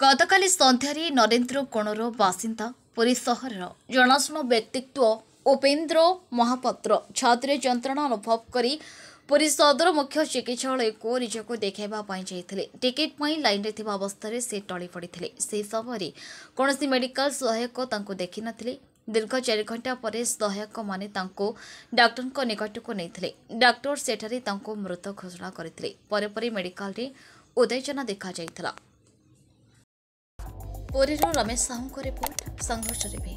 ଗତକାଲି ସନ୍ଧ୍ୟାରେ ନରେନ୍ଦ୍ର କୋଣର ବାସିନ୍ଦା ପୁରୀ ସହରର ଜଣାଶୁଣା ବ୍ୟକ୍ତିତ୍ୱ ଉପେନ୍ଦ୍ର ମହାପାତ୍ର ଛାତିରେ ଯନ୍ତ୍ରଣା ଅନୁଭବ କରି ପୁରୀ ସଦର ମୁଖ୍ୟ ଚିକିତ୍ସାଳୟକୁ ନିଜକୁ ଦେଖାଇବା ପାଇଁ ଯାଇଥିଲେ। ଟିକେଟ୍ ପାଇଁ ଲାଇନ୍ରେ ଥିବା ଅବସ୍ଥାରେ ସେ ଟଳି ପଡ଼ିଥିଲେ। ସେହି ସମୟରେ କୌଣସି ମେଡିକାଲ ସହାୟକ ତାଙ୍କୁ ଦେଖିନଥିଲେ। ଦୀର୍ଘ 4 ଘଣ୍ଟା ପରେ ସହାୟକମାନେ ତାଙ୍କୁ ଡାକ୍ତରଙ୍କ ନିକଟକୁ ନେଇଥିଲେ। ଡାକ୍ତର ସେଠାରେ ତାଙ୍କୁ ମୃତ ଘୋଷଣା କରିଥିଲେ। ପରେ ପରେ ମେଡିକାଲରେ ଉତ୍ତେଜନା ଦେଖାଯାଇଥିଲା। ପୁରୀରୁ ରମେଶ ସାହୁଙ୍କ ରିପୋର୍ଟ, ସଂଘର୍ଷ ଟିଭି।